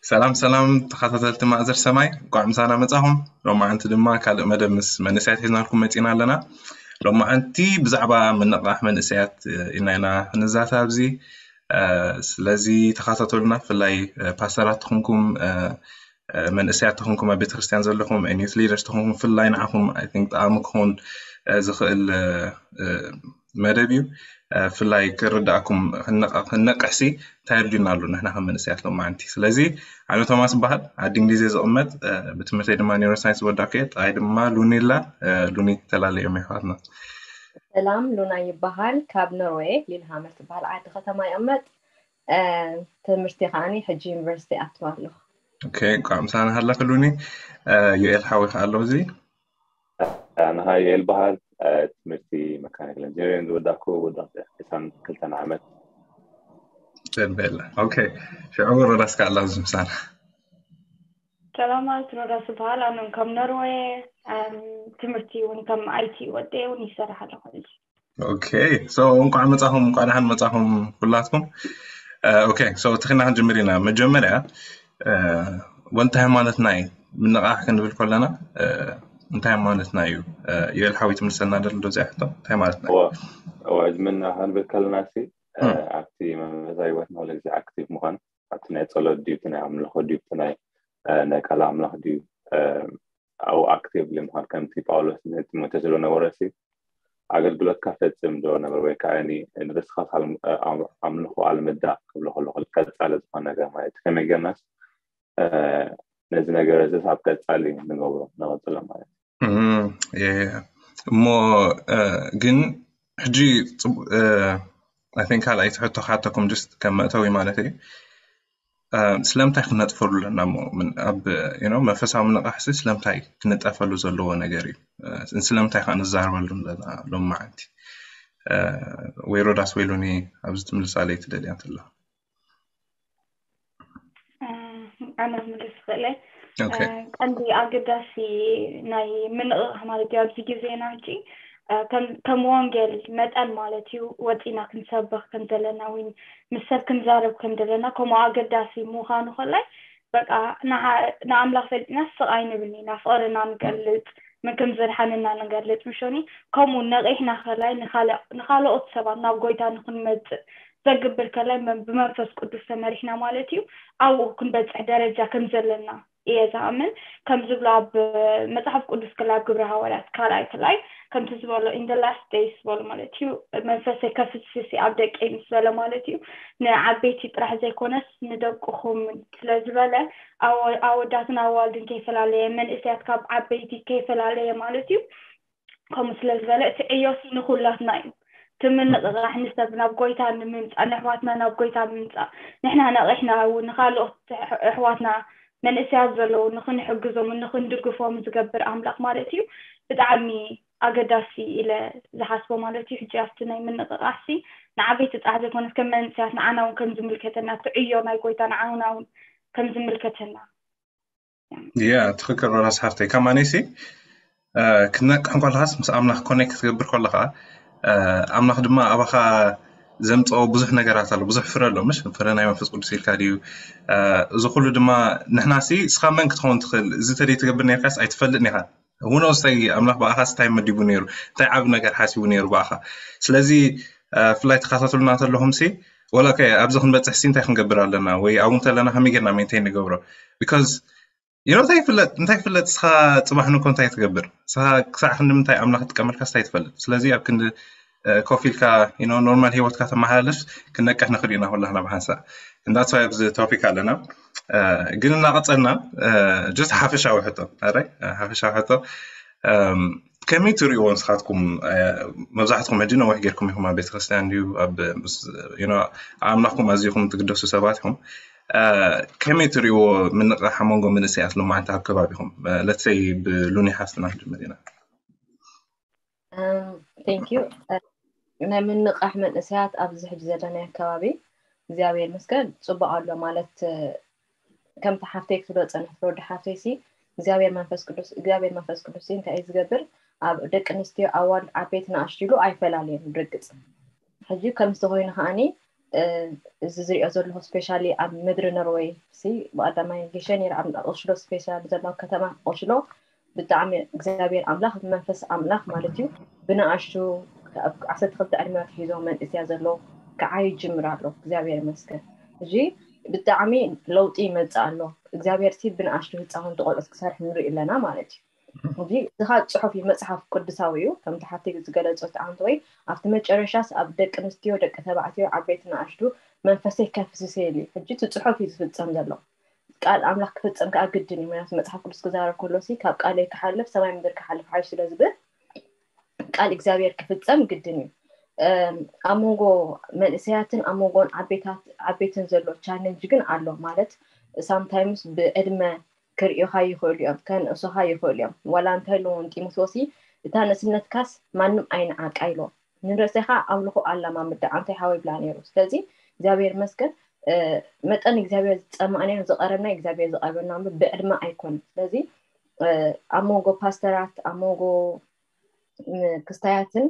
ሰላም ሰላም ተኸታተልቲ ማእዘር ሰማይ፣ እንኳዕ ምሳና መጻኹም። ሎማዓንቲ ድማ ካልእ መደብ ምስ መንእሰያት ሒዝናልኩም መጺና ኣለና። ሎማዓንቲ ብዛዕባ ምንቕቓሕ መንእሰያት ኢና ኢና ክንዛተ ኣብዚ። ስለዚ ተኸታተሉና። ብፍላይ ፓስተራት ተኾንኩም፣ መንእሰያት ተኾንኩም፣ ኣብ ቤተክርስትያን ዘለኹም፣ ዩት ሊደርስ ተኾንኩም፣ ብፍላይ ንዓኹም ጠቓሚ ክኸውን ዝኽእል መደብ እዩ። ብፍላይ ክርዳእኩም ክንነቕሕሲ እንታይ ኣድልዩና ኣሎ ንሕና ከም መንእሰያት ሎማዓንቲ። ስለዚ ኣነ ቶማስ ይበሃል፣ ዓዲ እንግሊዝ እየ ዝቕመጥ። ብትምህርተይ ድማ ኒውሮሳይንስ ወዳእኩ እየ። ጥቓይ ድማ ሉኒ ኣላ። ሉኒ ተላለዮም ኣሕዋትና። ሰላም፣ ሉና ይበሃል። ካብ ኖርዌይ ሊልሃመር ትበሃል ዓዲ ከተማ ይቕመጥ። ትምህርቲ ከዓኒ ሕጂ ዩኒቨርሲቲ ኣትዋ ኣለኹ። ኦኬ፣ እንኳዕ ምሳና ሃለኺ ሉኒ። ዩኤል ሓዊ ከኣ ኣሎ እዚ። ኣነ ኸዓ ዩኤል በሃል። ትምህርቲ መካኒካል ኢንጂነሪንግ ዝወዳእኩ ወዲ ዕስራን ክልተን ዓመት። ደስ በሃሊ። ኦኬ፣ ሽዑ ሮዳስ ከኣ ኣሎ ኣብዚ ምሳና። ሰላማት፣ ሮዳስ ይበሃል። ኣነ እውን ከም ኖርዌይ። ትምህርቲ እውን ከም ኣይቲ ወደየ እውን ይሰርሕ ኣለኹ። ኦኬ፣ ሶ እንኳዕ መጻኹም፣ እንኳዕ ደሓን መጻኹም ኩላትኩም። ኦኬ፣ ሶ ተኺና ክንጅምር ኢና። መጀመርያ ወንታ ሃይማኖትና እዩ ምንቓሕ ክንብል ከለና እንታይ ሃይማኖትና እዩ? ዩኤል ሓዊ ትምልሰልና ደሎ ዶ እዚኣ ሕቶ እንታይ ማለት እዩ? እዋ፣ እዚ ምንቓሕ ክንብል ከለና ሲ ኣብቲ መንፈሳዊ ህይወትና ኩሉ ግዜ ኣክቲቭ ምዃን፣ ኣብቲ ናይ ጸሎት ድዩ፣ እቲ ናይ ኣምልኾ ድዩ፣ እቲ ናይ ናይ ቃል ኣምላኽ ድዩ፣ ኣብኡ ኣክቲቭሊ ምዃን፣ ከምቲ ጳውሎስ ንጢሞቴዎስ ዝብሎ ነበረ ሲ ኣገልግሎትካ ፈጽም ዝብሎ ነበረ፣ ወይ ከዓ ንርእስኻ ኣምልኾ ኣልምዳ ክብሎ ከለኹ ቀጻሊ ዝኾነ ነገር ማለት እዩ። ከመይ ጌርናስ ነዚ ነገር እዚ ኣብ ቀጻሊ ንገብሮ ንቐጽሎ ማለት እዩ። እሞ ግን ሕጂ I think ካልኣይቲ ሕቶ ክሓተኩም just ከም መእተዊ ማለት እዩ። ስለምንታይ ክነጥፈሉ ኣለና? ኣብ መንፈሳዊ ምንቕቓሕሲ ስለምንታይ ክንጠፈሉ ዘለዎ ነገር እዩ? ስለምንታይ ከዓ ንዛረበሉ ኣለና ሎም መዓልቲ? ወይ ሮዳስ ወይ ሉኒ ኣብዚ ትምልሳ ለይ ትደልያ እንተሎ። ኣነ ክምልስ ክኽእለ ቀንዲ ኣገዳሲ ናይ ምንቕቓሕ ማለት እዩ ኣብዚ ግዜና ሕጂ ከም ወንጌል መጠን ማለት እዩ ወፂና ክንሰብኽ ከም ዘለና ወይ ምስ ሰብ ክንዛረብ ከም ዘለና ከምኡ ኣገዳሲ ምዃኑ ከላይ በቃ ንኣምላኽ ፈሊጥና ስቕ ኣይንብልን ኢና። ፍቕርና ንገልፅ፣ መን ከም ዘድሓነና ንገልፅ ምሾኒ። ከምኡ ነቒሕና ከላይ ንኻልኦት ሰባት ናብ ጎይታ ንክንመፅእ ዘግብር ከላይ ብመንፈስ ቅዱስ ተመሪሕና ማለት እዩ ኣብኡ ክንበፅሕ ደረጃ ከም ዘለና እየ ዝኣምን። ከም ዝብሎ ኣብ መፅሓፍ ቅዱስ ክላ ኣብ ግብረ ሃዋርያት ካልኣይ ክላይ ከምቲ ዝበሎ in the last days ዝበሎ ማለት እዩ መንፈሰይ ከፍስስ ኣብ ደቀይ ምስ በለ ማለት እዩ ንዓበይቲ ጥራሕ ዘይኮነስ ንደቅኹም ስለ ዝበለ ኣወዳትን ኣዋልድን ከይፈላለየ መንእሰያት ካብ ዓበይቲ ከይፈላለየ ማለት እዩ ከምኡ ስለ ዝበለ እቲ ዕዮሲ ንኩላትና እዩ። እቲ ምንቕቓሕ ንሰብ ናብ ጎይታ ንምምፃእ ንኣሕዋትና ናብ ጎይታ ንምምፃእ ንሕና ነቒሕና እውን ንካልኦት ኣሕዋትና መንእሰያት ዘለዉ ንክንሕግዞም ንክንድግፎም ዝገብር ኣምላኽ ማለት እዩ። ብጣዕሚ ኣገዳሲ ኢለ ዝሓስቦ ማለት እዩ። ሕጂ ኣብቲ ናይ ምንቕቓሕሲ ንዓበይቲ ጥራሕ ዘይኮነስ ከም መንእሰያት ንዓና እውን ከም ዝምልከተና እቲ ዕዮ ናይ ጎይታ ንዓና እውን ከም ዝምልከተና ያ ትኽክል ሮዳስ ሓፍተይ። ከማነይሲ ክትነቅሕ እንከለኻስ ምስ ኣምላኽ ኮኔክት ክትገብር ከለኻ ኣምላኽ ድማ ኣባኻ ዘምፀኦ ብዙሕ ነገራት ኣሎ። ብዙሕ ፍረ ኣሎ ምሽ ፍረ ናይ መንፈስ ቅዱስ ኢልካ ድዩ? እዚ ኩሉ ድማ ንሕናሲ እስኻ መን ክትኸውን ትኽእል? እዚ ተደይ ትገብር ነርካስ ኣይትፈልጥ ኒኻ። ሁኖ ስተይ ኣምላኽ ብኣኻ እንታይ መዲቡ ነይሩ? እንታይ ዓብ ነገር ሓሲቡ ነይሩ ብኣኻ? ስለዚ ፍላይ ተኸታተሉና ተለኹም ሲ ወላ ከ ኣብዚ ክንበፅሕ ሲ እንታይ ክንገብር ኣለና ወይ ኣብኡ እንተለና ከመይ ጌርና ሜንቴን ንገብሮ? ቢካዝ ዩ ኖ እንታይ ይፍለጥ እንታይ ይፍለጥ እስኻ ፅባሕ ንኮ እንታይ ትገብር እስኻ ክሳዕ ክንዲ ምንታይ ኣምላኽ ጥቀመልካ ስታይ ትፈልጥ። ስለዚ ኣብ ክንዲ ኮፍ ኢልካ ኖርማል ሂወትካ ተመሓላልፍ ክንነቅሕ ንኽእል ኢና ኩላህና ብሓንሳእ። እንዳትስ ዋይ ኣብዚ ቶፒክ ኣለና። ግን እናቐፀልና ጀስት ሓፈሻዊ ሕቶ ኣረ ሓፈሻዊ ሕቶ ከመይ ትሪእዎ ንስኻትኩም? መብዛሕትኩም ሕጂ ነዊሕ ጌርኩም ኢኹም ኣብ ቤተክርስትያን ድዩ ኣብ ኣምላኽኩም ኣዚኹም ትግደሱ ሰባት ኢኹም። ከመይ ትሪእዎ ምንቕራሕ ኣብ መንጎ መንእሰያት ሎማዓንቲ ኣብ ከባቢኹም? ለትሰይ ብሉኒ ሓፍትና ክንጅምር ኢና። ቴንክ ዩ ናይ ምንቕራሕ መንእሰያት ኣብዚ ሕጂ ዘለናዮ ኣከባቢ እግዚኣብሔር ይመስገን ፅቡቕ ኣሎ ማለት ከምቲ ሓፍተይ ክትብሎ ፀንሕት ወዲ ሓፍተይ ሲ እግዚኣብሔር መንፈስ ቅዱስ እግዚኣብሔር መንፈስ ቅዱስ ሲ እንታይ እዩ ዝገብር ኣብ ደቂ ኣንስትዮ ኣዋልድ ዓበይቲ ንኣሽቱ ኢሉ ኣይፈላለየን ብርግፅ ሕጂ ከምዚ ኮይኑ ከዓኒ እዚ ዝሪኦ ዘለኹ ስፔሻሊ ኣብ ምድሪ ኖርወይ ሲ ብቀዳማይ ጌሸ ነይረ ኣብ ኦስሎ ስፔሻሊ ዘሎ ከተማ ኦስሎ ብጣዕሚ እግዚኣብሔር ኣምላኽ መንፈስ ኣምላኽ ማለት እዩ ብንኣሽቱ ዓሰርተ ክልተ ዕድመ ኣትሒዞ መንእስያ ዘሎ ክዓይ ይጅምር ኣሎ እግዚኣብሔር ይመስገን እዚ ብጣዕሚ ለውጢ ይመፅእ ኣሎ እግዚኣብሔር ሲ ብንኣሽቱ ህፃውንቲ ቆልዑት ክሰርሕ ንርኢ ኣለና ማለት እዩ እዚ እዚ ከዓ ፅሑፍ እዩ መፅሓፍ ቅዱሳዊ እዩ ከምቲ ሓፍተይ ዝገለፆት ኣንተ ወይ ኣብቲ መጨረሻስ ኣብ ደቂ ኣንስትዮ ደቂ ተባዕትዮ ዓበይቲ ንኣሽቱ መንፈሰይ ከፍስሰ ኢሉ እዩ ሕጂ እቲ ፅሑፍ እዩ ዝፍፀም ዘሎ ቃል ኣምላኽ ክፍፀም ከዓ ግድን እዩ ምክንያቱ መፅሓፍ ቅዱስ ክዛረብ ከሎ ሲ ካብ ቃለይ ክሓልፍ ሰማይ ምድር ክሓልፍ ሓይሽ ስለ ዝብል ቃል እግዚኣብሔር ክፍፀም ግድን እዩ ኣብ መንጎ መንእሰያትን ኣብ መንጎን ዓበይትን ዘሎ ቻለንጅ ግን ኣሎ ማለት ሳምታይምስ ብዕድመ ክርእዩኻ ይኽእሉ እዮም፣ ከንእሱኻ ይኽእሉ እዮም። ዋላ እንታይ ኢልዎም ጢሞቴዎስ፣ እታ ንእስነትካስ ማንም ኣይንዓቃ ኢልዎም። ንርእሰኻ ኣምልኾ ኣላማምዳ፣ ኣንታይ ሓወይ ብላ ነይሩ። ስለዚ እግዚኣብሔር ይመስገን መጠን እግዚኣብሔር ዝጸማእናዮ ዝቐረብና እግዚኣብሔር ዝቐርበና እምበር ብዕድመ ኣይኮነን። ስለዚ ኣብ መንጎ ፓስተራት ኣብ መንጎ ክስታያትን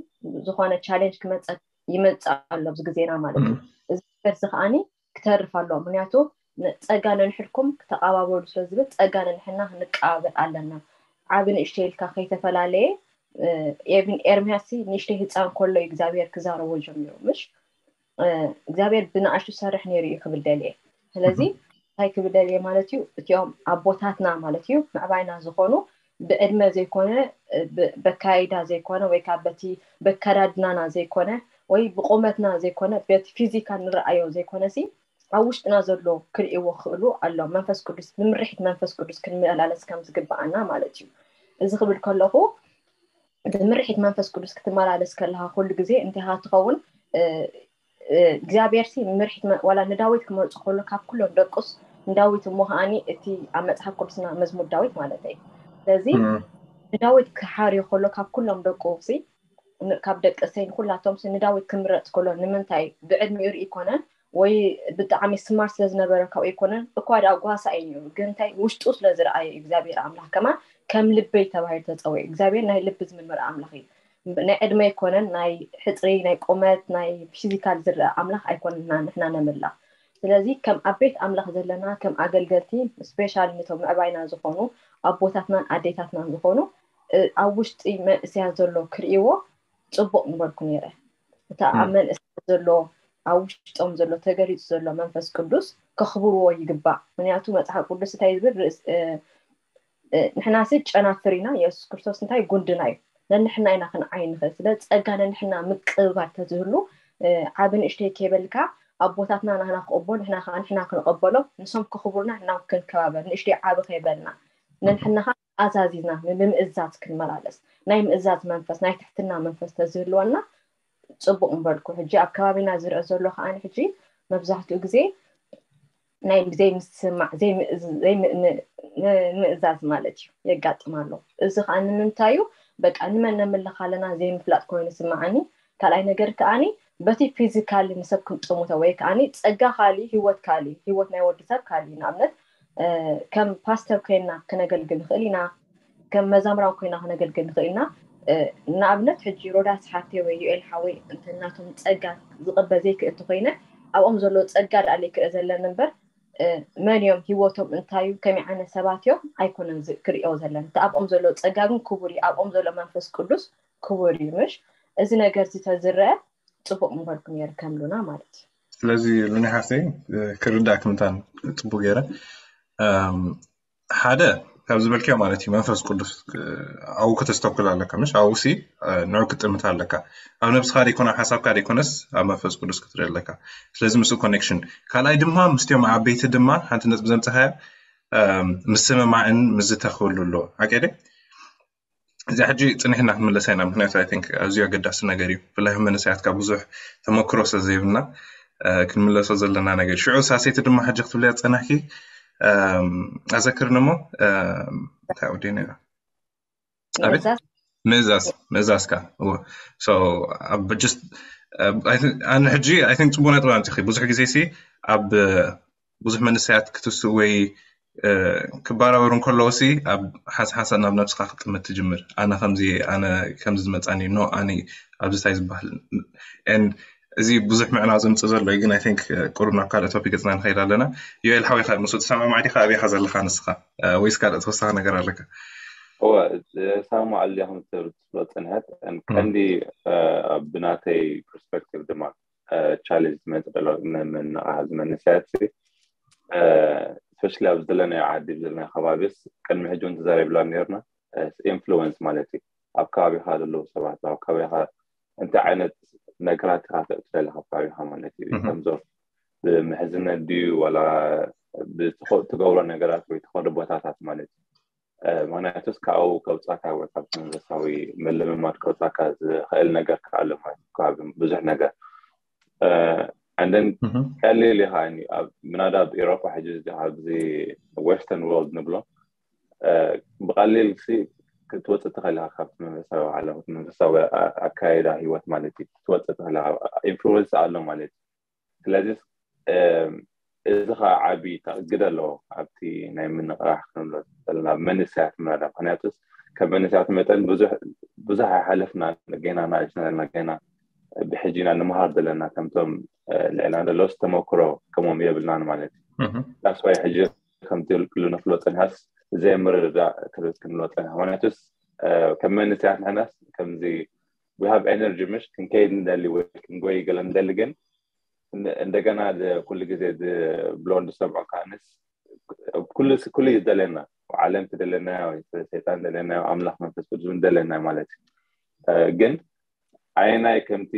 ዝኾነ ቻሌንጅ ክመፀ ይመፅእ ኣሎ ኣብዚ ግዜና ማለት እዩ። እዚ ነገር እዚ ከዓኒ ክተርፍ ኣለዎ። ምክንያቱ ጸጋ ነንሕድኩም ክተቓባበሉ ስለ ዝብል ጸጋ ነንሕና ክንቀባበል ኣለና። ዓቢ ንእሽተይ ኢልካ ከይተፈላለየ ኤርሚያስ ንእሽተይ ህፃን ከሎ እዩ እግዚኣብሔር ክዛረቦ ጀሚሩ ምሽ እግዚኣብሔር ብንኣሽቱ ሰርሕ ነይሩ እዩ ክብል ደልየ ስለዚ እንታይ ክብል ደልየ ማለት እዩ እቲኦም ኣቦታትና ማለት እዩ ምዕባይና ዝኾኑ ብዕድመ ዘይኮነ በካይዳ ዘይኮነ ወይ ከዓ በቲ በከዳድናና ዘይኮነ ወይ ብቆመትና ዘይኮነ በቲ ፊዚካል ንረኣዮ ዘይኮነ ሲ ኣብ ውሽጥና ዘሎ ክርእይዎ ክኽእሉ ኣሎ መንፈስ ቅዱስ ብምርሒት መንፈስ ቅዱስ ክንመላለስ ከም ዝግብኣና ማለት እዩ እዚ ክብል ከለኹ ብምርሒት መንፈስ ቅዱስ ክትመላለስ ከለካ ኩሉ ግዜ እንታይ ትኸውን እግዚኣብሔር ሲ ምርሒት ዋላ ንዳዊት ክመርፆ ከሎ ካብ ኩሎም ደቁስ ንዳዊት እሞ ከዓኒ እቲ ኣብ መፅሓፍ ቅዱስና መዝሙር ዳዊት ማለት እዩ ስለዚ ንዳዊት ክሓርዮ ከሎ ካብ ኩሎም ደቁ ሲ ካብ ደቂ እሰይ ንኩላቶም ሲ ንዳዊት ክምረፅ ከሎ ንምንታይ ብዕድሚኡ ርኢ ይኮነን ወይ ብጣዕሚ ስማርት ስለዝነበረ ካብኡ ይኮነን እኳ ዳ ጓሳ እዩ ነይሩ ግን እንታይ ውሽጡ ስለዝረኣየ እግዚኣብሔር ኣምላኽ ከማን ከም ልበይ ተባሂሉ ተፀውዒ እግዚኣብሔር ናይ ልቢ ዝምርምር ኣምላኽ እዩ ናይ ዕድመ ኣይኮነን ናይ ሕፅሪ ናይ ቁመት ናይ ፊዚካል ዝረአ ኣምላኽ ኣይኮንና ንሕና ነምላ ስለዚ ከም ኣቤት ኣምላኽ ዘለና ከም ኣገልገልቲ ስፔሻል ነቶም ምዕባይና ዝኾኑ ኣቦታትናን ኣዴታትናን ዝኾኑ ኣብ ውሽጢ መንእሰያት ዘሎ ክርእይዎ ፅቡቕ ምበልኩ ነይረ እታ ኣብ መንእሰያት ዘሎ ኣብ ውሽጦም ዘሎ ተገሊፁ ዘሎ መንፈስ ቅዱስ ከኽብርዎ ይግባእ ምክንያቱ መፅሓፍ ቅዱስ እንታይ ዝብል ንሕናሲ ጨናፍር ኢና የሱስ ክርስቶስ እንታይ ጉንድና እዩ ነንሕና ኢና ክንዓይ ንኽእል ስለ ፀጋ ነንሕና ምቅብባል ተዝህሉ ዓቢ ንእሽተይ ከይበልካ ኣቦታትና ናህና ክቕቦ ንሕና ከዓ ንሕና ክንቐበሎ ንሶም ክኽብሩና ንሕና ክንከባበር ንእሽተይ ዓቢ ከይበልና ነንሕና ከዓ ኣዛዚዝና ንምእዛዝ ክንመላለስ ናይ ምእዛዝ መንፈስ ናይ ትሕትና መንፈስ ተዝህልወና ፅቡቕ ምበልኩ ሕጂ ኣብ ከባቢና ዝርአ ዘሎ ከዓ ሕጂ መብዛሕትኡ ግዜ ናይ ዘይምስማዕ ምእዛዝ ማለት እዩ የጋጥም ኣሎ እዚ ከዓ ንምንታይ እዩ በቃ ንመን ነምልኽ ኣለና ዘይምፍላጥ ኮይኑ ስምዓኒ ካልኣይ ነገር ከዓኒ በቲ ፊዚካሊ ንሰብ ክንጥሙቶ ወይ ከዓኒ ፀጋ ካሊ ህይወት ካሊ ህይወት ናይ ወዲ ሰብ ካሊ ንኣብነት ከም ፓስተር ኮይና ክነገልግል ንኽእል ኢና ከም መዛምራን ኮይና ክነገልግል ንኽእል ኢና ንኣብነት ሕጂ ሮዳስ ሓፍተይ ወይ ዩኤል ሓወይ እንተ ናቶም ፀጋ ዝቕበ ዘይክእል እንተኮይነ ኣብኦም ዘሎ ፀጋ ደኣ ዘይክእል ዘለኒ እምበር መን እዮም ህይወቶም እንታይ እዩ ከመይ ዓይነት ሰባት እዮም ኣይኮነን ክርእዮ ዘለኒ እቲ ኣብኦም ዘሎ ፀጋ ግን ክቡር እዩ ኣብኦም ዘሎ መንፈስ ቅዱስ ክቡር እዩ ምሽ እዚ ነገር እዚ ተዝረአ ፅቡቅ ምበልኩ ነይሩ ከምሉና ማለት እዩ ስለዚ ሉኒ ሓፍተይ ክርዳእ ክምታን ፅቡቅ ገይረ ሓደ ካብ ዝበልክዮ ማለት እዩ መንፈስ ቅዱስ ኣብኡ ከተስተኩል ኣለካ ምሽ ኣብኡ ሲ ንዑ ክትጥምት ኣለካ ኣብ ነብስካ ደይኮነ ኣብ ሓሳብካ ደይኮነስ ኣብ መንፈስ ቅዱስ ክትርኢ ኣለካ ስለዚ ምስኡ ኮኔክሽን ካልኣይ ድማ ምስቲኦም ዓበይቲ ድማ ሓንቲ ነጥቢ ዘምፀካያ ምስምማዕን ምዝተክብሉ ኣለዎ ሓቀደ እዚኣ ሕጂ ፅኒሕና ክንምለሳ ኢና ምክንያቱ ኣይ ቲንክ ኣዝዩ ኣገዳሲ ነገር እዩ ብፍላይ መንእሰያትካ ብዙሕ ተመክሮ ስለ ዘይብልና ክንምለሶ ዘለና ነገር ሽዑ ሳሴቲ ድማ ሕጂ ክትብልያ ፀናሕኪ ኣዘክርኒ እሞ እንታይ ወዲና እያ ኣቤት ምእዛዝ ምእዛዝካ እዎ so ኣብ just ኣነ ሕጂ ኣይ ቲንክ ፅቡቅ ነጥቢ ኣምፂኺ ብዙሕ ግዜ ሲ ኣብ ብዙሕ መንእሰያት ክትስኡ ወይ ክበራበሩ እንከለዉ ሲ ኣብ ሓንሳብ ሓንሳብ ናብ ነብስኻ ክጥምት ትጅምር ኣነ ከምዚ ኣነ ከምዚ ዝመፃኒ ኖ ኣነ ኣብዚ እንታይ ዝበሃል and እዚ ብዙሕ ምዕናው ዘምፅእ ዘሎ እዩ፣ ግን I think ቁሩብ ናብ ካልእ ቶፒክ ገፅና ንኸይድ ኣለና። ዮኤል ሓወይ፣ ምስ ትሰማማዕ ዲኻ? ኣበይ ኢኻ ዘለኻ ንስኻ? ወይስ ካልእ ተወሳኺ ነገር ኣለካ? እወ፣ ሰማማዕ ኣለኹ። ትብሎ ፅንሐት ቀንዲ ብናተይ ፐርስፔክቲቭ ድማ ቻሌንጅ ዝመፅእ ዘሎ ምንቕሓት መንእሰያት ስፔሻሊ ኣብ ዘለናዮ ዓዲ፣ ኣብ ዘለናዮ ከባቢስ ቅድሚ ሕጂ እውን ተዛሪብና ነርና። ኢንፍሉወንስ ማለት እዩ። ኣብ ከባቢኻ ዘለዉ ሰባት፣ ኣብ ከባቢኻ እንታይ ዓይነት ነገራት ኢኻ ተእትለለ ካብ ከባቢኻ ማለት እዩ። ከምዞም ብምሕዝነት ድዩ ዋላ ትገብሮ ነገራት ወይ ትኸዶ ቦታታት ማለት እዩ። ምክንያቱስ ካብኡ ከውፃካ ወይ ካብቲ መንፈሳዊ ምልምማድ ከውፃካ ዝኽእል ነገር ከዓ ኣሎ ማለት እዩ። ብዙሕ ነገር እንደን ቀሊል ኢኻ። ምናዳ ኣብ ኤሮፓ ሕጂ ኣብዚ ዌስተርን ወርልድ ንብሎ ብቐሊል ክትወፅእ ትኽእል ኢኻ ካብቲ መንፈሳዊ ዓለም፣ መንፈሳዊ ኣካይዳ ህይወት ማለት እዩ። ክትወፅእ ትኽእል ኢኻ። ኢንፍሉወንስ ኣሎ ማለት እዩ። ስለዚ እዚ ከዓ ዓቢ ግደ ኣለዎ ኣብቲ ናይ ምንቕራሕ ክንብሎ ዘለና መንእሰያት ምናዳ። ምክንያቱስ ከም መንእሰያት መጠን ብዙሕ ኣይሓለፍና፣ ገና ናእሽና ዘለና፣ ገና ብሕጂ ኢና ንምሃር ዘለና። ከምቶም ልዕልና ዘለዎስ ተመክሮ ከምኦም የብልናን ማለት እዩ። ዳስዋይ ሕጂ ከምቲ ኩሉ ነፍሎ ፅንሃስ ዘይምርድዳእ ክርት ክንብሎ ፅንሃ። ምክንያቱስ ከም መንእሰያት ንሕናስ ከምዚ we have energy ምሽ ክንከይድ ንደሊ ወይ ክንጎይ ገለ ንደሊ፣ ግን እንደገና ኩሉ ግዜ ብሎ ንሰምዖ ከዓንስ ኩሉ እዩ ዝደለና። ዓለም ትደለና፣ ሰይጣን ደለና፣ ኣምላኽ መንፈስ ቅዱስ እውን ደለና ማለት እዩ። ግን ኣይናይ ከምቲ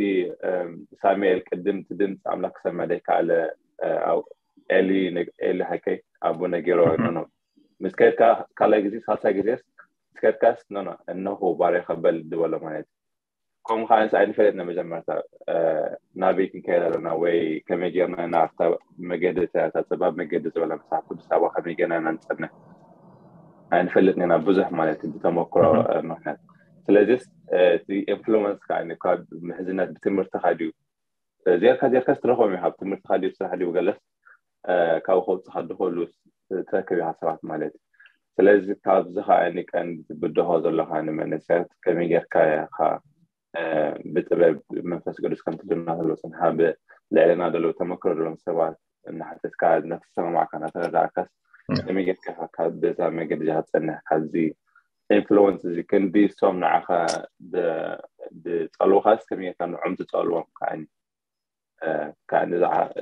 ሳሙኤል ቅድም እቲ ድምፂ ኣምላኽ ክሰምዕ ዘይከኣለ ኤሊ ኤሊ ሃይከይ ኣቦ ነጊሮ ኖኖ ምስ ከድካ ካልኣይ ግዜ ሳልሳይ ግዜ ምስ ከድካስ ኖኖ እነሆ ባርያ ከበል ዝበሎ ማለት እዩ። ከምኡ ከዓ ንስ ኣይንፈልጥና መጀመርታ ናበይ ክንከይድ ኣለና ወይ ከመይ ጌርና ናብታ መገዲ እታ ፀባብ መገዲ ዝበላ መፅሓፍ ቅዱስ ኣብኣ ከመይ ጌርና ኢና ንፀንሕ ኣይንፈልጥን ኢና ብዙሕ ማለት እዩ ብተመክሮ ምክንያት። ስለዚስ እቲ ኢንፍሉወንስ ከዓ ካብ ምሕዝነት ብትምህርትኻ ድዩ ዜርካ ዜርካ ስትረኸቦም እዩ ካብ ትምህርትኻ ድዩ ስራሕ ድዩ ገለስ ካብኡ ከውፅኻ ድኸሉ ትረክብ ኢኻ ሰባት ማለት እዩ። ስለዚ ካብዚ ከዓ ቀንዲ ትብድሆ ዘለኻ ንመንእሰያት ከመይ ጌርካ ኢኻ ብጥበብ መንፈስ ቅዱስ ከምቲ ድማ ዘሎ ፅንሓ ብልዕልና ዘለዉ ተመክሮ ዘለዎም ሰባት እናሓተትካ እናተሰማማዕካ እናተረዳእካስ ከመይ ጌርካ ኢኻ በዛ መገዲ ክትፀንሕ ካብዚ ኢንፍሉወንስ እዚ ክንዲ እሶም ንዓኻ ዝፀልውኻስ ከመይ ጌርካ ንዖም ትፀልዎም ከዓ ከዓኒ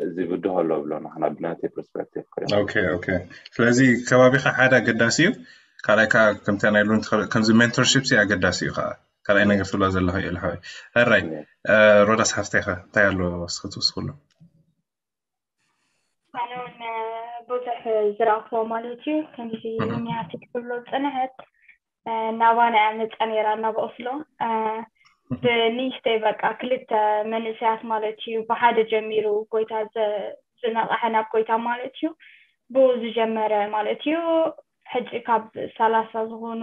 እዚ ብድሆ ኣሎ ብሎ ንሕና ብናተይ ፐርስፔክቲቭ ክሪኦ። ኦኬ ኦኬ። ስለዚ ከባቢኻ ሓደ ኣገዳሲ እዩ። ካልኣይ ከዓ ከምታ ናይ ሉን ከምዚ ሜንቶርሺፕ ሲ ኣገዳሲ እዩ ከዓ ካልኣይ ነገር ትብሎ ዘለኹ እዩ ልሓወይ። ሕራይ ሮዳስ ሓፍተይ ኸ እንታይ ኣሎ እስኺ ትውስኽሉ? ኣነ እውን ብዙሕ ዝረእኽዎ ማለት እዩ ከምዚ ሚያቲ ትብሎ ፅንሐት ናባና እያ መፃ ነይራ ናብ ኦስሎ ብንእሽተይ በቃ ክልተ መንእሰያት ማለት እዩ ብሓደ ጀሚሩ ጎይታ ዝነቕሐ ናብ ጎይታ ማለት እዩ ብኡ ዝጀመረ ማለት እዩ ሕጂ ካብ ሰላሳ ዝኾኑ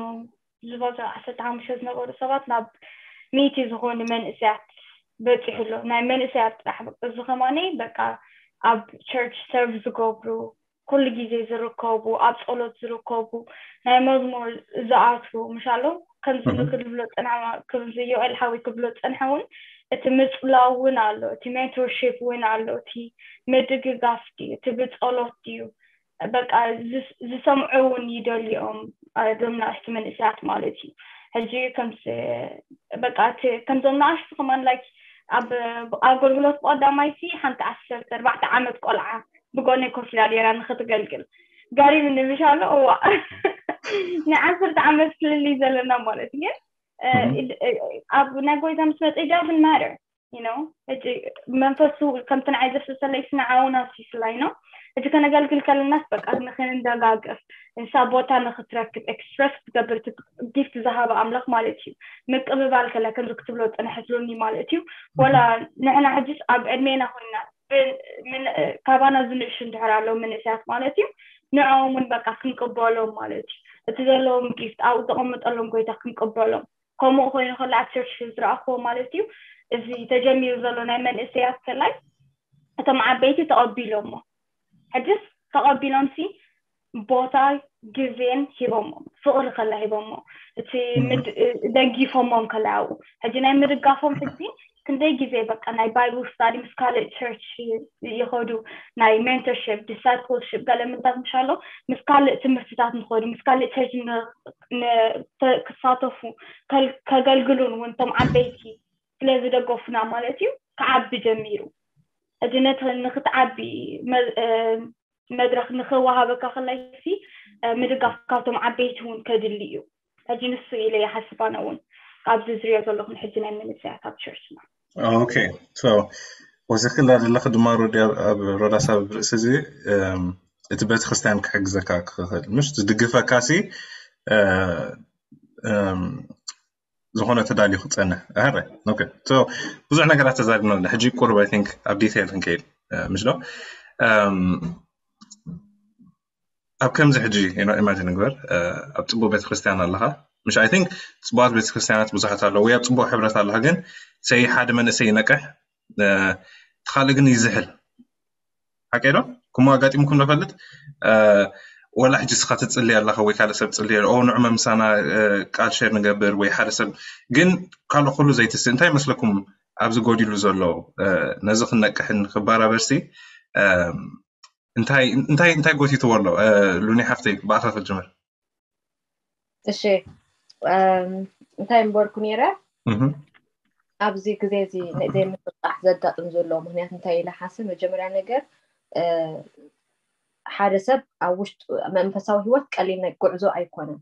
ዝበዝሑ ዓሰርተ ሓሙሽተ ዝነበሩ ሰባት ናብ ሚእቲ ዝኾኑ መንእሰያት በፂሑ ኣሎ ናይ መንእሰያት ጥራሕ እዚ ከማኒ በቃ ኣብ ቸርች ሰርቭ ዝገብሩ ኩሉ ግዜ ዝርከቡ ኣብ ፀሎት ዝርከቡ ናይ መዝሙር ዝኣትዉ ምሻሎ ከምዚ ንክልብሎ ፅንሐ ከምዚ ዮኤል ሓዊ ክብሎ ፅንሐ እውን እቲ ምፅላው እውን ኣሎ እቲ ሜንቶርሺፕ እውን ኣሎ እቲ ምድግጋፍ ድዩ እቲ ብፀሎት ድዩ በቃ ዝሰምዑ እውን ይደልዮም እዞም ናእሽቱ መንእሰያት ማለት እዩ ሕጂ ከምዚ በቃ ከምዞም ናእሽቱ ከማን ላይክ ኣብ ኣገልግሎት ብቀዳማይቲ ሓንቲ ዓሰርተ ኣርባዕተ ዓመት ቆልዓ ብጎነይ ኮፍ ኢላ ነይራ ንክትገልግል ገሪምኒ ምሽ ኣሎ እዋ ናይ ዓሰርተ ዓመት ፍልልይ ዘለና ማለት ግን ኣብ ናይ ጎይታ ምስ መፀ ዳዝን ማተር you know እቲ መንፈሱ ከምቲ ንዓይ ዘፍስሰለይ ስነ ዓውና ሲስላይ ነው እቲ ከነገልግል ከለናስ በቃ ንክንደጋገፍ እንሳ ቦታ ንክትረክብ ኤክስፕረስ ክትገብር ጊፍት ዝሃበ ኣምላኽ ማለት እዩ ምቅብባል ከላ ከምዚ ክትብሎ ፅንሐትሉኒ ማለት እዩ ወላ ንሕና ሕጅስ ኣብ ዕድሜና ኮይና ካባና ዝንእሹ እንድሕር ኣለዉ መንእሰያት ማለት እዩ ንዕኦም እውን በቃ ክንቅበሎም ማለት እዩ እቲ ዘለዎም ጊፍት ኣብኡ ዘቐምጠሎም ጎይታ ክንቅበሎም ከምኡ ኮይኑ ከሎ ኣብ ቸርች ዝረኣኽዎ ማለት እዩ እዚ ተጀሚሩ ዘሎ ናይ መንእሰያት ከላይ እቶም ዓበይቲ ተቐቢሎሞ ሕጅስ ተቐቢሎም ሲ ቦታ ግዜን ሂቦሞ ፍቕሪ ከላ ሂቦሞ እቲ ደግፎሞም ከላ ኣብኡ ሕጂ ናይ ምድጋፎም ሕጂ ክንደይ ግዜ በቃ ናይ ባይብል ስታዲ ምስ ካልእ ቸርች ይኸዱ፣ ናይ ሜንተርሽፕ፣ ዲሳይፕልሽፕ፣ ገለ ምንታት ምሻሎ ምስ ካልእ ትምህርትታት ንኸዱ፣ ምስ ካልእ ቸርች ክሳተፉ፣ ከገልግሉን እውን እቶም ዓበይቲ ስለ ዝደገፉና ማለት እዩ ክዓቢ ጀሚሩ። ሕጂ ነቲ ንክትዓቢ መድረክ ንክወሃበካ ከላይ ሲ ምድጋፍ ካብቶም ዓበይቲ እውን ከድሊ እዩ። ሕጂ ንሱ ኢለ ይሓስብ ኣነ እውን ኣብዚ ዝሪኦ ዘለኹን ሕጂ ናይ መንእሰያት ኣብ ቸርችና። ኦኬ፣ ወሲኽላ ዘለኺ ድማ ሮዳስ ኣብ ርእሲ እዚ እቲ ቤተክርስትያን ክሕግዘካ ክኽእል ምሽ ዝድግፈካ ሲ ዝኾነ ተዳልዩ ክፀንሕ ኣረ ብዙሕ ነገራት ተዛሪብና ኣለና። ሕጂ ቁሩብ I think ኣብ ዲቴል ክንከይድ ምሽ ዶ ኣብ ከምዚ ሕጂ ኢማጂን ንግበር ኣብ ፅቡቅ ቤተክርስትያን ኣለካ ምሽ I think ፅቡቃት ቤተክርስትያናት ብዙሓት ኣለዉ ወይ ኣብ ፅቡቅ ሕብረት ኣለካ ግን ሰይ ሓደ መንእሰይ ይነቅሕ እቲ ካልእ ግን ይዝሕል ሓቀይ ዶ ከምኡ ኣጋጢምኩም ንፈልጥ ወላ ሕጂ ስኻ ትፅሊ ኣለኻ ወይ ካልእ ሰብ ፅሊ ኦ ንዑ መምሳና ቃል ሸር ንገብር ወይ ሓደ ሰብ ግን ካልእ ኩሉ ዘይትስእ እንታይ ይመስለኩም ኣብዚ ጎዲሉ ዘሎ ነዚ ክነቅሕን ክበራበርሲ እንታይ እንታይ እንታይ ጎቲትዎ ኣሎ ሉኒ ሓፍተይ ብኣኻ ክጅምር እሺ እንታይ እምበርኩ ነይረ ኣብዚ ግዜ እዚ ዘይምፍጣሕ ዘጋጥም ዘሎ ምክንያት እንታይ ኢለ ሓስብ መጀመርያ ነገር ሓደ ሰብ ኣብ ውሽጡ መንፈሳዊ ህይወት ቀሊል ጉዕዞ ኣይኮነን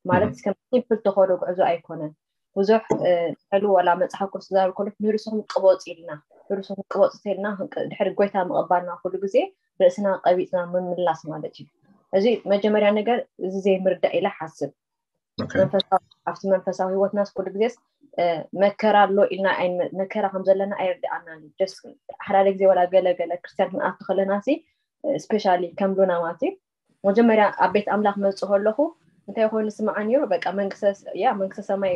ማለት ከም ሲምፕል ተኸዶ ጉዕዞ ኣይኮነን ብዙሕ ንሕሉ ወላ መፅሓፍ ቅዱስ ዝዛረብ ከሎ ንርእስኹም ቅበፁ ኢልና ንርእስኹም ቅበፁ ተልና ድሕሪ ጎይታ ምቕባልና ኩሉ ግዜ ርእስና ቀቢፅና ምምላስ ማለት እዩ እዚ መጀመርያ ነገር እዚ ዘይምርዳእ ኢለ ሓስብ ኣብቲ መንፈሳዊ ህይወትናስ ኩሉ ግዜስ መከራ ኣሎ ኢልና መከራ ከም ዘለና ኣይርድኣና ሓደ ግዜ ወላ ገለገለ ክርስትያን ክንኣቱ ከለና ሲ ስፔሻሊ ከም ሉና ማለት እዩ መጀመርያ ኣብ ቤት ኣምላኽ መፅእ ከለኹ እንታይ ኮይኑ ስምዓ ነይሩ በቃ መንግስተ ያ መንግስተ ሰማይ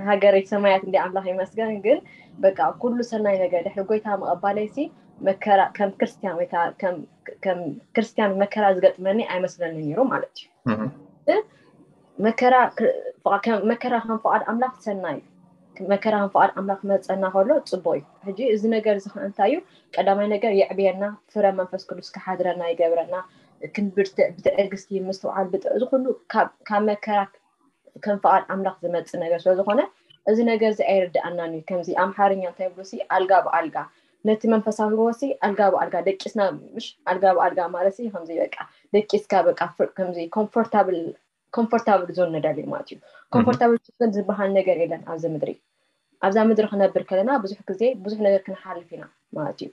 ሃገረይ ሰማያት እንዲ ኣምላኽ ይመስገን ግን በቃ ኩሉ ሰናይ ነገር ድሕሪ ጎይታ ምቐባለይሲ መከራ ከም ክርስትያን ወይ ከም ክርስትያን መከራ ዝገጥመኒ ኣይመስለኒ ነይሩ ማለት እዩ መከራ ከም ፍቓድ ኣምላኽ ሰናይ መከራ ከም ፍቓድ ኣምላኽ መፀና ከሎ ፅቡቅ እዩ ሕጂ እዚ ነገር እዚ ከዓ እንታይ እዩ ቀዳማይ ነገር የዕብየና ፍረ መንፈስ ቅዱስ ክሓድረና ይገብረና ክንብርትዕ ብትዕግስቲ ምስትውዓል ብጥዕ እዚ ኩሉ ካብ መከራ ከም ፍቓድ ኣምላኽ ዝመፅእ ነገር ስለዝኾነ እዚ ነገር እዚ ኣይርድኣናን እዩ ከምዚ ኣምሓርኛ እንታይ ብሎ ሲ ኣልጋ ብኣልጋ ነቲ መንፈሳዊ ህይወት ሲ ኣልጋ ብኣልጋ ደቂስና ምሽ ኣልጋ ብኣልጋ ማለት ሲ ከምዚ በቃ ደቂስካ በቃ ከምዚ ኮምፎርታብል ኮምፎርታብል ዞን ንደሊ ማለት እዩ ኮምፎርታብል ዞን ዝበሃል ነገር የለን ኣብዚ ምድሪ ኣብዛ ምድሪ ክነብር ከለና ብዙሕ ግዜ ብዙሕ ነገር ክንሓልፍ ኢና ማለት እዩ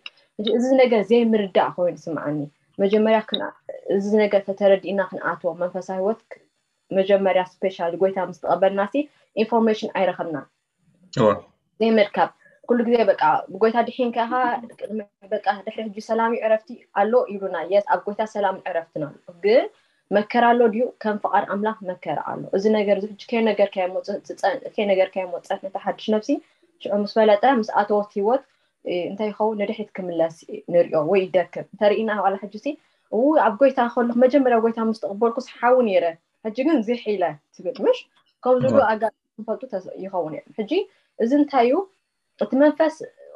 እዚ ነገር ዘይምርዳእ ኮይኑ ስምዓኒ መጀመርያ እዚ ነገር ተተረዲእና ክንኣትዎ መንፈሳዊ ህይወት መጀመርያ ስፔሻል ጎይታ ምስ ተቐበልና ሲ ኢንፎርሜሽን ኣይረኸብና ዘይምርካብ ኩሉ ግዜ በቃ ብጎይታ ድሒን ከኻ በቃ ድሕሪ ሕጂ ሰላም ዕረፍቲ ኣሎ ይብሉና የስ ኣብ ጎይታ ሰላም ዕረፍትና ኣሎ ግን መከራ ኣሎ ድዩ ከም ፍቓድ ኣምላኽ መከራ ኣሎ እዚ ነገር እዚ ሕጂ ከይነገርካዮ መውፅእ ትፀን ከይነገርካዮ መውፅእ ነቲ ሓድሽ ነብሲ ሽዑ ምስ ፈለጠ ምስ ኣተወት ህይወት እንታይ ይኸውን ንድሕሪት ክምለስ ንሪኦ ወይ ይደክም እንተርኢና ዋላ ሕጂ ሲ እው ኣብ ጎይታ ከለኹ መጀመርያ ጎይታ ምስ ተቐበልኩስ ሓዊ ነይረ ሕጂ ግን ዝሕ ኢለ ትብል ምሽ ከምዚ ኣጋ ክፈልጡ ይኸውን እዮም ሕጂ እዚ እንታይ እዩ እቲ መንፈስ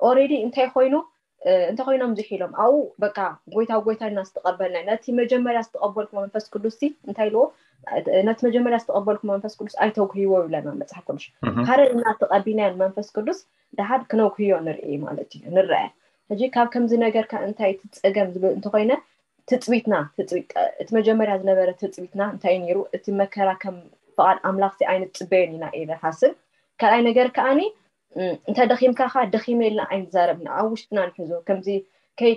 ኦሬዲ እንታይ ኮይኑ እንተኮይኖም ዝሒሎም ኣብኡ በቃ ጎይታ ጎይታ ኢና ዝተቀበልና ነቲ መጀመርያ ዝተቀበልኩ መንፈስ ቅዱስ እንታይ ኢልዎ ነቲ መጀመርያ ዝተቀበልኩ መንፈስ ቅዱስ ኣይተጉህይዎ ይብለና መፅሓፍ ቅዱስ ሓደ እና ተቀቢልናዮ መንፈስ ቅዱስ ደሓር ክነጉህዮ ንርኢ ማለት እዩ ንረአ ሕጂ ካብ ከምዚ ነገር ከ እንታይ እቲ ፀገም ዝብል እንተኮይነ ትፅቢትና እቲ መጀመርያ ዝነበረ ትፅቢትና እንታይ ነይሩ እቲ መከራ ከም ፍቓድ ኣምላኽ ሲ ኣይንፅበዮን ኢና ኢለ ሓስብ ካልኣይ ነገር ከዓኒ እንተ ደኺምካ ካ ደኺመ ኢልና ኣይንዛረብና ኣብ ውሽጥና ንሕዞ ከምዚ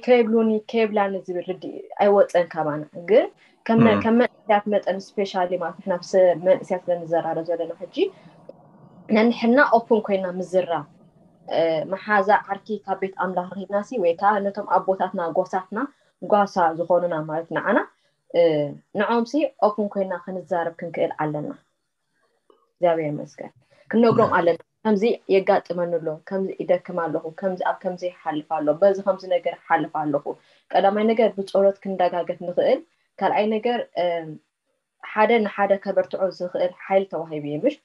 ከይብሉኒ ከይብላኒ ዝብል ርዲ ኣይወፀን ካባና ግን ከም መንእስያት መጠን ስፔሻሊ ማለት ንሕና ምስ መንእስያት ስለንዘራረብ ዘለና ሕጂ ነንሕና ኦፕን ኮይና ምዝራብ መሓዛ ዓርኪ ካብ ቤት ኣምላኽ ረኺብና ሲ ወይ ከዓ ነቶም ኣቦታትና ጎሳትና ጓሳ ዝኾኑና ማለት ንዓና ንዖም ሲ ኦፕን ኮይና ክንዛረብ ክንክእል ኣለና እግዚኣብሔር ይመስገን ክነግሮም ኣለና ከምዚ የጋጥመኒ ኣሎ ከምዚ ይደክም ኣለኹ ከምዚ ኣብ ከምዚ ይሓልፍ ኣሎ በዚ ከምዚ ነገር ይሓልፍ ኣለኹ ቀዳማይ ነገር ብፀሎት ክንደጋገፍ ንኽእል ካልኣይ ነገር ሓደ ንሓደ ከበርትዖ ዝኽእል ሓይሊ ተዋሂቡ እዩ ምሽ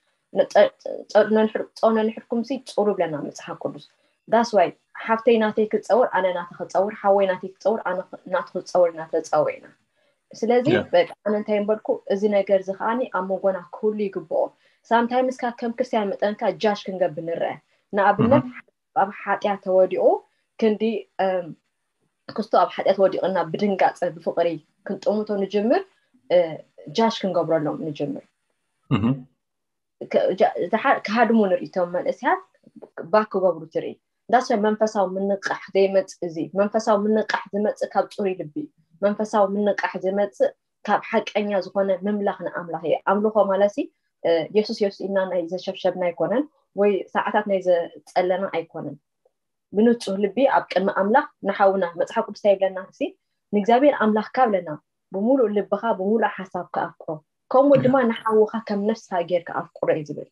ፀውነ ንሕድኩም ሲ ፅሩ ብለና መፅሓፍ ቅዱስ that's why ሓፍተይ ናተይ ክፀውር ኣነ ናተ ክፀውር ሓወይ ናተይ ክፀውር ኣነ ናቱ ክፀውር እናተፀወ ኢና ስለዚ በቃ ኣነ እንታይ በልኩ እዚ ነገር እዚ ከዓኒ ኣብ መንጎና ክህሉ ይግብኦ sometimes ካ ከም ክርስትያን መጠንካ judge ክንገብር ንረአ ንኣብነት ኣብ ሓጢኣት ተወዲቑ ክንዲ ክስቶ ኣብ ሓጢኣት ወዲቕና ብድንጋፀ ብፍቕሪ ክንጥምቶ ንጅምር judge ክንገብረሎም ንጅምር ክሃድሙ ንርኢ ቶም መንእስያት back ክገብሩ ትርኢ that's why መንፈሳዊ ምንቃሕ ዘይመፅእ እዚ መንፈሳዊ ምንቃሕ ዝመፅእ ካብ ፅሩይ ልቢ መንፈሳዊ ምንቃሕ ዝመፅእ ካብ ሓቀኛ ዝኾነ ምምላኽ ንኣምላኽ እዩ ኣምልኾ ማለት የሱስ የሱስ ኢልና ናይ ዘሸብሸብና ኣይኮነን ወይ ሰዓታት ናይ ዘፀለና ኣይኮነን ብንፁህ ልቢ ኣብ ቅድሚ ኣምላኽ ንሓውና መፅሓፍ ቅዱስ ይብለና ሲ ንእግዚኣብሔር ኣምላኽካ ብለና ብሙሉእ ልብኻ ብሙሉእ ሓሳብካ ኣፍቅሮ ከምኡ ድማ ንሓውኻ ከም ነፍስኻ ጌርካ ኣፍቅሮ እዩ ዝብል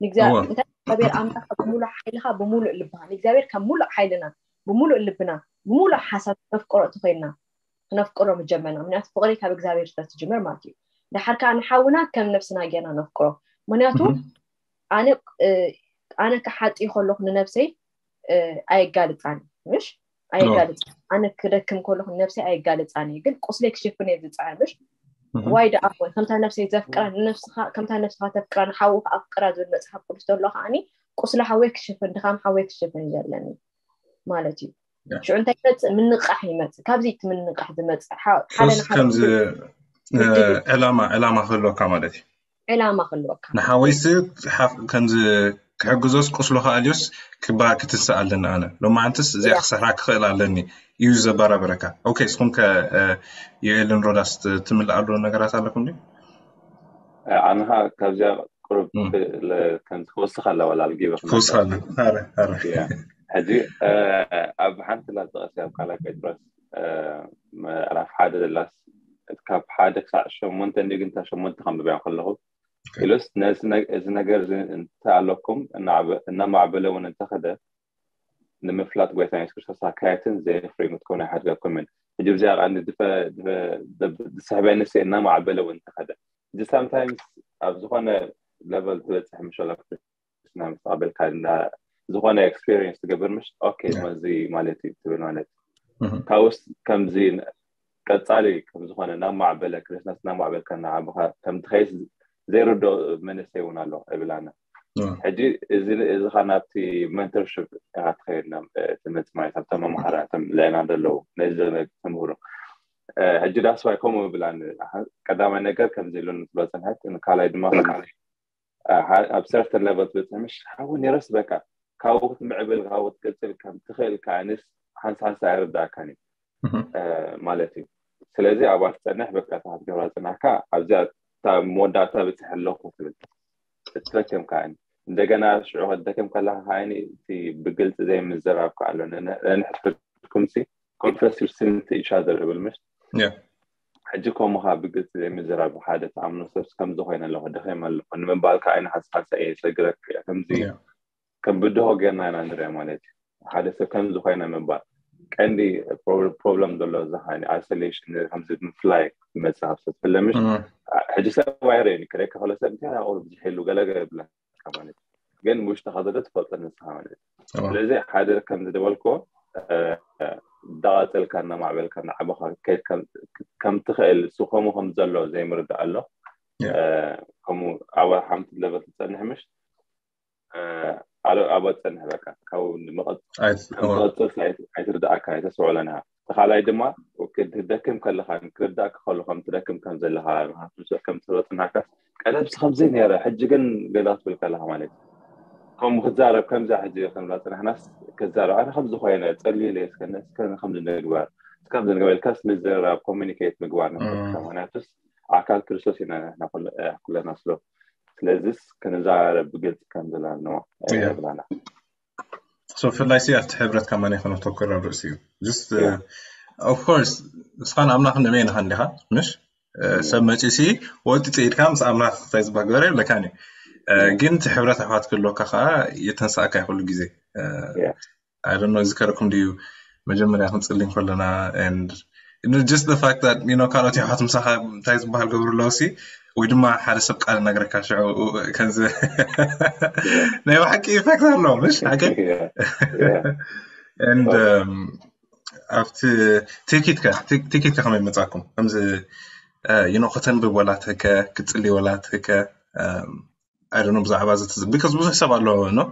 ንእግዚኣብሔር ኣምላኽ ብሙሉእ ሓይልኻ ብሙሉእ ልብኻ ንእግዚኣብሔር ካብ ሙሉእ ሓይልና ብሙሉእ ልብና ብሙሉእ ሓሳብ ነፍቅሮ እቲ ኮይንና ክነፍቅሮ ምጀመርና ምክንያቱ ፍቅሪ ካብ እግዚኣብሔር ስለ ትጅምር ማለት እዩ ድሓር ከዓ ንሓውና ከም ነብስና ጌርና ነፍቅሮ ምክንያቱ ኣነ ኣነ ክሓጢ ከለኩ ንነብሰይ ኣየጋልፃን ምሽ ኣየጋልፃን ኣነ ክደክም ከለኩ ንነብሰይ ኣየጋልፃን እዩ ግን ቁስለይ ክሽፍን እየ ዝፅዕር ምሽ ዋይ ደኣ እሞ ከምታ ነብሰይ ዘፍቅራ ንነብስካ ከምታ ነብስካ ተፍቅራ ንሓውካ ኣፍቅራ ዝብል መፅሓፍ ቅዱስ ዘሎ ከዓኒ ቁስሊ ሓወይ ክሽፍን ድኻም ሓወይ ክሽፍን እዩ ዘለኒ ማለት እዩ ሽዑ እንታይ ይመፅእ ምንቃሕ ይመፅእ ካብዚ እቲ ምንቃሕ ዝመፅእ ሓደ ከምዚ ዕላማ ዕላማ ክህልወካ ማለት እዩ ዕላማ ክህልወካ ንሓወይሲ ከምዚ ክሕግዞስ ቁስሉ ከኣልዮስ ክበሃል ክትንስእ ኣለኒ ኣነ ሎማዓንትስ እዚኣ ክሰርሓ ክኽእል ኣለኒ እዩ ዘበራብረካ ኦኬ እስኹም ከ ዮኤልን ሮዳስ ትምልኣሉ ነገራት ኣለኩም ድዩ ኣነ ከዓ ካብዚኣ ቁሩብ ከምዚ ክወስኽ ኣለዋ ላልጊበ ክወስኽ ኣለ ሕጂ ኣብ ሓንቲ ላጠቐሲ ኣብ ካልኣይ ጴጥሮስ ምዕራፍ ሓደ ዘላስ ካብ ሓደ ክሳዕ ሸሞንተ እንዲ ግንታ ሸሞንተ ከንብብያ ከለኹ ኢሉስ እዚ ነገር እዚ እንተ ኣለኩም እናማዕበለ እውን እንተኸደ ንምፍላጥ ጎይታ የሱስ ክርስቶስ ኣካየትን ዘየፍርዩ ክትኮኑ ይሓድገኩም እዩ ሕጂ ብዚኣ ቃል ዝስሕበኒ ሲ እናማዕበለ እውን እንተኸደ እዚ ሳምታይምስ ኣብ ዝኾነ ለቨል ትበፅሕ ምሸላ ክርስትና ምስ ተቐበልካ ዝኾነ ኤክስፒሪንስ ትገብር ምሽ ኦኬ እዚ ማለት እዩ ትብል ማለት ካብኡስ ከምዚ ቀፃሊ ከምዝኾነ ናብ ማዕበለ ክርስትና ናብ ማዕበልካ እናዓበኻ ከም ትኸይስ ዘይርዶ መንእሰይ እውን ኣሎ እብል ኣነ ሕጂ እዚ ካ ናብቲ መንተርሽፕ ኢካ ትኸይድ ትመፅ ማለት ኣብቶም መምሃራቶም ልዕና ዘለዉ ነዚ ተምህሩ ሕጂ that's why ከምኡ እብል ኣነ ቀዳማይ ነገር ከምዚ ኢሉ ንትብሎ ፅንሐት ካልኣይ ድማ ኣብ ሰርተን ለቨል ትበፅሕ ምሽ ሓዊ ነይረስ በቃ ካብኡ ክትምዕብል ካብኡ ክትቅፅል ከም ትኽእል ከዓንስ ሓንሳ ሓንሳ ኣይርዳእካን እዩ ማለት እዩ ስለዚ ኣብኣ ትፀንሕ በቃ እታ ክትገብራ ዝፅናሕካ ኣብዚኣ እታ መወዳእታ በፅሕ ኣለኹ ትብል ትደክም ከዓኒ እንደገና ሽዑ ክትደክም ከለካ ከዓኒ እቲ ብግልፂ ዘይምዝራብ ከኣሎ ንሕድሕድኩም ሲ confess your sin to each other ይብል ምሽ ሕጂ ከምኡ ከዓ ብግልፂ ዘይምዝራብ ሓደ ተኣምኖ ሰብስ ከምዚ ኮይነ ኣለኹ ደኺም ኣለኹ ንምባል ከዓ ዓይነ ሓንሳሓንሳ እየ ሰግረክ እያ ከምዚ ከም ብድሆ ጌርና ኢና ንሪኦ ማለት እዩ ሓደ ሰብ ከምዚ ኮይነ ምባል ቀንዲ ፕሮብለም ዘሎ እዚ ከዓ isolation ከምዚ ምፍላይ ይመፅእ ካብ ሰብ ፍለምሽ ሕጂ ሰብ ኣይርእን ክደካ ከሎ ሰብ እንታይ ቁሩብ ዝሕሉ ገለገለ ይብለካ ማለት እዩ ግን ውሽጥኻ ዘሎ ትፈልጦ ንስኻ ማለት እዩ ስለዚ ሓደ ከም ዝደበልክዎ እንዳቐፀልካ እናማዕበልካ እናዓበኻ ከይድ ከም ትኽእል እሱ ከምኡ ከም ዘሎ ዘይምርዳእ ኣሎ ከምኡ ኣብ ሓንቲ ለቨል ትፀንሕ ምሽ ኣብ ትፀንሕ በቃ ካብ ምቕፅል ኣይትርዳእካ ኣይተስምዕሎን ኢኻ እቲ ካልኣይ ድማ ክትደክም ከለኻ ክርዳእካ ከሎ ከም ትደክም ከም ዘለኻ ከም ትበፅናካ ቀደምሲ ከምዘይ ነረ ሕጂ ግን ገዛ ክትብል ከለኻ ማለት እዩ ከምኡ ክትዛረብ ከምዛ ሕጂ ከምዛ ፅናሕናስ ክዛረብ ኣነ ከምዚ ኮይነ ፀልዩ ኢለ እስከ እስከ ከምዚ ንግበር እስከ ከምዚ ንግበር ኢልካስ ምዝርራብ ኮሚኒኬት ምግባር ንክእል ምክንያቱስ ኣካል ክርስቶስ ኢና ንሕና ኩለና ስለ ስለዚስ ክንዛረብ ብግልፂ ከም ዘለና ኣለዎ ብላና so ብፍላይ ሲ ኣብቲ ሕብረት ከማን ከነተኩር ኣብ ርእሲ እዩ just of course ንስኻን ኣምላኽ ንመይ ንኻ እንዲኻ ምሽ ሰብ መፂኡ ሲ ወጢ ፅኢድካ ምስ ኣምላኽ እንታይ ዝበሃል ገበረ የብለካን እዩ ግን እቲ ሕብረት ኣሕዋት ክህልወካ ከዓ የተንስኣካ ይክሉ ግዜ ኣይደኖ ዝከረኩም ድዩ መጀመርያ ክንፅሊ ከለና and just the fact that you know ካልኦት የሕዋት ምሳኻ እንታይ ዝበሃል ገብሩ ኣለዉ ሲ ወይ ድማ ሓደ ሰብ ቃል ነግረካ ሽዑ ከምዚ ናይ ብሓቂ ኢፌክት ኣለዎ፣ ምሽ ሓቂ? And ኣብቲ ቲኬትካ ቲኬትካ ከመይ መጻኩም? ከምዚ you know ከተንብብ ወላ ትህከ ክትጽሊ ወላ ትህከ I don't know ብዛዕባ እዚ ትዝ because ብዙሕ ሰብ ኣሎ no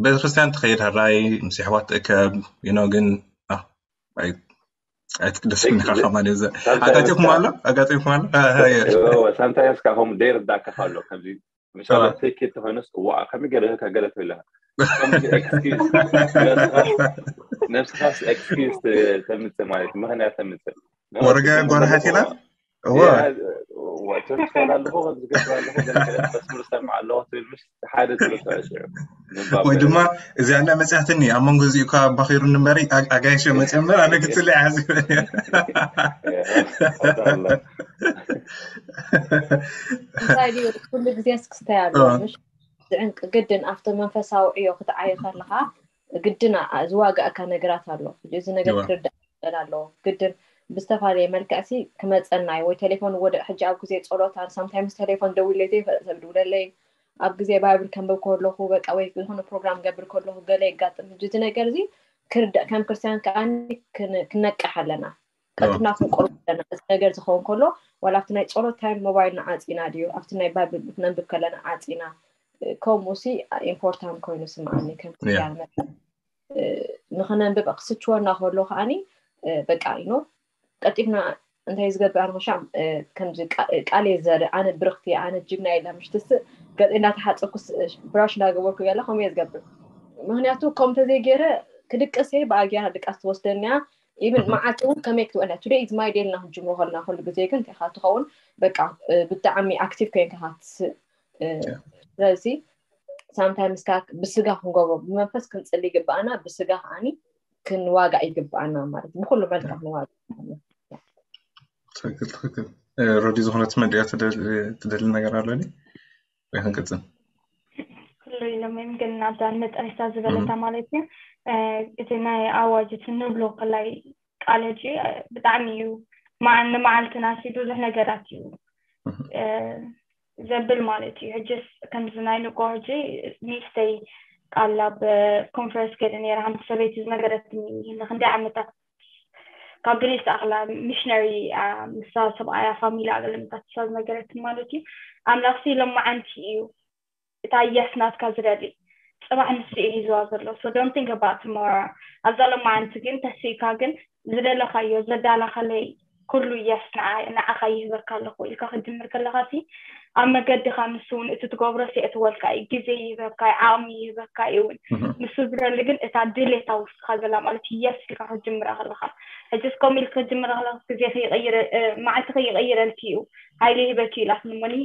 ቤተክርስትያን ትኸይድ፣ ሕራይ ምስ ኣሕዋት ትእከብ you know ግን ኣይትቅደስኒ ኢኻ ከማን እዚ ኣጋጢኹም ኣሎ ኣጋጢኹም ኣሎ ሳምታይምስ ካብ ከምኡ ደይርዳእካ ኣሎ ከምዚ ምሳሌ ትኬት ተኾይኑስ እዋ ከመይ ገለ ከገለ ትብለካ ነብስኻስ ኤክስኪውስ ተምፅእ ማለት ምክንያት ተምፅእ ወረጋ ጓርሓት ኢና ትምስል ኣለኹ ከምዚ ገብር ኣለኹ መስሙር ሰምዕ ኣለኹ ትብል ምሽ ሓደ ትርሶ ሽዑ ወይ ድማ እዚኣ እንዳ መፅያትኒ ኣብ መንጎ እዚኡ እኳ ኣባኺሩኒ እምበሪ ኣጋይሸ መፅዮ እምበር ኣነ ክፅሊ ሓዚበኒ እንታይ ድዩ ኩሉ ግዜ ስክስታይ ኣሎ ዝዕንቅ ግድን ኣብቲ መንፈሳዊ ዕዮ ክትዓይ ከለካ ግድን ዝዋጋእካ ነገራት ኣሎ እዚ ነገር ክርዳእ ይኽእል ኣለዎ ግድን ብዝተፈላለየ መልክዕሲ ክመፀና እዩ ወይ ቴሌፎን ወደ ሕጂ ኣብ ግዜ ፀሎት ኣነ ሳምታይምስ ቴሌፎን ደዊለይ ዘይፈልጥ ሰብ ድውለለይ ኣብ ግዜ ባይብል ከንብብ ከለኹ በቃ ወይ ዝኾነ ፕሮግራም ገብር ከለኹ ገለ የጋጥም ሕጂ እዚ ነገር እዚ ክርዳእ ከም ክርስትያን ከዓ ክነቅሕ ኣለና ቀጥና ክንቆርብ ኣለና እዚ ነገር ዝኸውን ከሎ ዋላ ኣብቲ ናይ ፀሎት ታይም ሞባይልና ዓፂና ድዩ ኣብቲ ናይ ባይብል ክነንብብ ከለና ዓፂና ከምኡ ሲ ኢምፖርታንት ኮይኑ ስምዓኒ ከም ክርስትያን መጠን ንኸነንብብ ክስችወና ከሎ ከዓኒ በቃ ኢኖ ቀጢፍና እንታይ ዝገብር ኣነ ሻም ከምዚ ቃል እየ ዘርኢ ኣነ ብርኽቲ ኣነ ጅግና ኢለ ምሽትስ ገፅ እንዳተሓፀኩስ ብራሽ እንዳገበርኩ ያለ ከምኡ እየ ዝገብር ምክንያቱ ከም ተዘይገይረ ክድቅስ እየ ብኣጊያ ድቃስ ትወስደኒያ ኢብን መዓልቲ እውን ከመይ ክትውዕለ ቱደይ ኢዝ ማይ ዴይ ኢልና ክንጅምሮ ከለና ኩሉ ግዜ ግን እንታይ ትኸውን በቃ ብጣዕሚ ኣክቲቭ ኮይንካ ክትስእ ስለዚ ሳምታይምስ ከዓ ብስጋ ክንገብሮ ብመንፈስ ክንፅሊ ይግባኣና ብስጋ ከዓኒ ክንዋጋእ ይግባኣና ማለት ብኩሉ መልክዕ ክንዋጋእ ትክክል ትክክል ረዲ ዝኾነ ትመድያ ትደሊ ነገር ኣሎ ወይ ክንቅፅል ኩሉ ኢሎም ወይም ግን ናብዛ ንመጠረሽታ ዝበለታ ማለት እዩ እቲ ናይ ኣዋጅ እቲ ንብሎ ከላይ ቃል ሕጂ ብጣዕሚ እዩ ንመዓልትና ሲ ብዙሕ ነገራት እዩ ዘብል ማለት እዩ ሕጅስ ከምዚ ናይ ንቆ ሕጂ ሚስተይ ቃል ኣብ ኮንፈረንስ ከይደ ነረ ሓንቲ ሰበይቲ ዝነገረትኒ ንክንደይ ዓመታት ካብ ግሪስ ኣኽላ ሚሽነሪ ምሳ ሰብኣያ ፋሚሊ ኣገለምታት ሳ ዝነገረትኒ ማለት እዩ ኣምላኽሲ ሎማዓንቲ እዩ እታ የስ ናትካ ዝደሊ ፅባሕ ንሱ እዩ ሂዝዋ ዘሎ so don't think about tomorrow ኣብዛ ሎማዓንቲ ግን ተስኢካ ግን ዝደለካዮ ዘዳላኸለይ ኩሉ የስ ንዓኻ ይህበካ ኣለኹ ኢልካ ክትጅምር ከለካ ሲ ኣብ መገድካ ንሱ እውን እቲ ትገብሮ ሲእትወልካ እዩ ግዜ ይህበካ እዩ ዓቕሚ ይህበካ እዩ እውን ንሱ ዝደሊ ግን እታ ድሌታ ውስጥካ ዘላ ማለት የስ ኢልካ ክትጅምራ ከለካ ሕጅስ ከምኡ ኢል ክትጅምራ ከለካ ግዜ ከይቀይረ መዓልቲ ከይቀይረልኪ እዩ ሃይለ ይህበኪ ኢላትኒ እሞኒ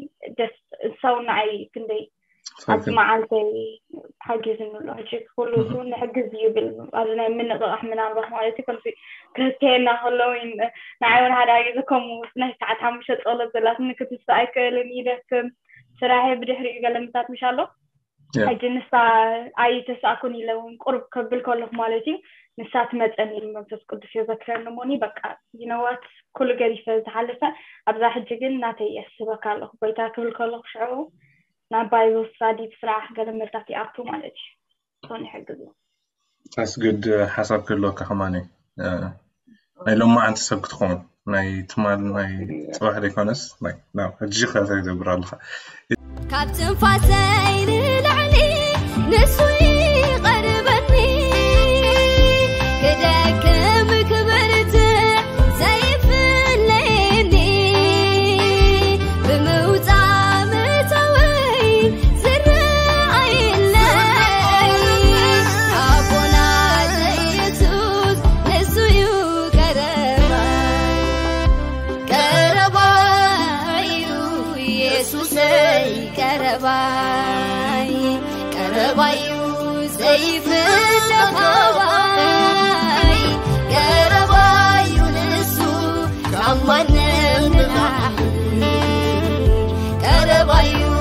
ደስ ሰው ንዓይ ክንደይ ኣብቲ መዓልተይ ሓጊዝኒ ኣሎ ሕጂ ኩሉ ንሕግዝ ይብል ኣብዚ ናይ ምንቕቓሕ ምናልባት ማለት እዩ ከምዚ ክህከየና ከለዉ ንዓይ እውን ሓደ ግዜ ከምኡ ናይ ሰዓት ሓሙሽተ ፀሎት ዘላትኒ ክትስእ ኣይክእልን ይደክም ስራሐ ብድሕሪኡ ገለ ምታት ምሽ ኣሎ ሕጂ ንሳ ኣይተሳእኩን ኢለ እውን ቁርብ ከብል ከለኹ ማለት እዩ ንሳ ትመፀኒ ኢሉ መንፈስ ቅዱስ የዘክረኒ እሞኒ በቃ ይነዋት ኩሉ ገዲፈ ዝሓለፈ ኣብዛ ሕጂ ግን ናተይ የስበካ ኣለኹ ጎይታ ክብል ከለኹ ሽዑ ናብ ባይብል ስታዲ ስራሕ ገለ መልታት ይኣቱ ማለት እዩ እሱን ይሕግዝ እዩ ኣስግድ ሓሳብ ክህልወካ ከማን ናይ ሎማዓንቲ ሰብ ክትኸውን ናይ ትማል ናይ ፅባሕ ዘይኮነስ ናብ ሕጂ ከ ተገብር ኣለካ ካብ ትንፋሰይ ንላዕሊ ንሱ ይቐርበኒ ክደክም ክበርትዕ ዘይፍለየኒ ብምውፃእ ምእታወይ ዝረኣየለይ ኣቦና ኢየሱስ ንሱ እዩ ቀረባይ ቀረባይ እዩ ኢየሱሰይ ቀረባይ ቀረባይ እዩ ዘይፍለኻዋይ ቀረባይ እዩ ንሱ ካብ ማንም ንላዕሊ ቀረባይ እዩ